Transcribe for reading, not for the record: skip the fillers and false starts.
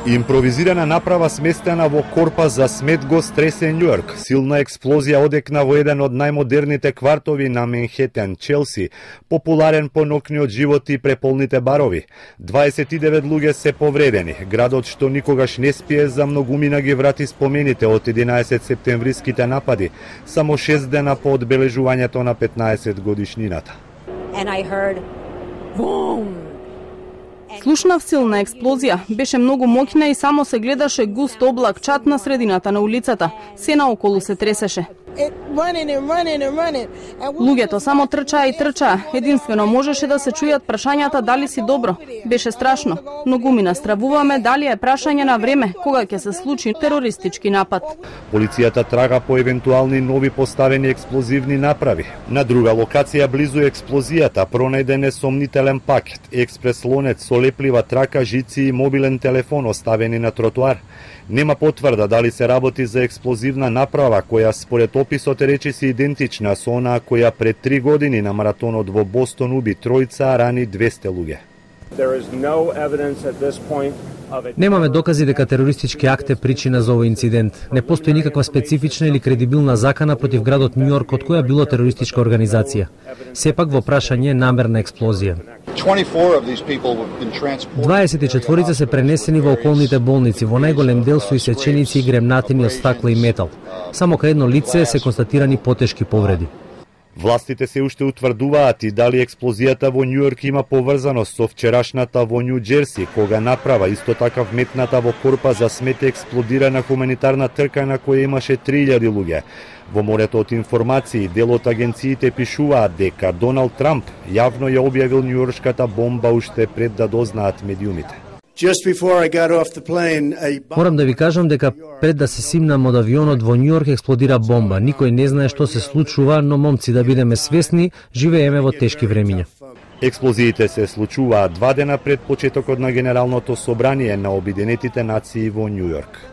Импровизирана направа сместена во корпа за смет го стресе Њујорк. Силна експлозија одекна во еден од најмодерните квартови на Менхетен, Челси, популарен по ноќниот живот и преполните барови. 29 луѓе се повредени. Градот што никогаш не спие за многумина ги врати спомените од 11 септемвриските напади, само 6 дена по одбележувањето на 15 годишнината. And I heard boom. Слушнав силна експлозија, беше многу моќна и само се гледаше густ облак чад на средината на улицата. Се наоколу се тресеше. Луѓето само трчаа и трчаа. Единствено можеше да се чујат прашањата дали си добро. Беше страшно. Многумина стравуваме дали е прашање на време кога ќе се случи терористички напад. Полицијата трага по евентуални нови поставени експлозивни направи. На друга локација близу експлозијата пронајден е сомнителен пакет, експрес лонец со леплива трака, жици и мобилен телефон оставени на тротоар. Нема потврда дали се работи за експлозивна направа која според описот е речиси идентична со онаа која пред 3 години на маратонот во Бостон уби тројца, а рани 200 луѓе. Немаме докази дека терористички акт е причина за овој инцидент. Не постои никаква специфична или кредибилна закана против градот Њујорк од која било терористичка организација. Сепак во прашање е намерна експлозија. 24 се пренесени во околните болници, во најголем дел со исеченици и гремнатини од стакло и метал. Само кај едно лице се констатирани потешки повреди. Властите се уште утврдуваат и дали експлозијата во Њујорк има поврзаност со вчерашната во Њу Џерси, кога направа исто така вметната во корпа за смет експлодира на хуманитарна трка на која имаше 3000 луѓе. Во морето од информации, дел од агенциите пишуваат дека Доналд Трамп јавно ја објавил њујоршката бомба уште пред да дознаат медиумите. Морам да ви кажам дека пред да се симнам од авионот во Њујорк експлодира бомба. Никој не знае што се случува, но момци да бидеме свесни, живееме во тешки времиња. Експлозиите се случуваат 2 дена пред почетокот на Генералното собрание на Обединетите нации во Њујорк.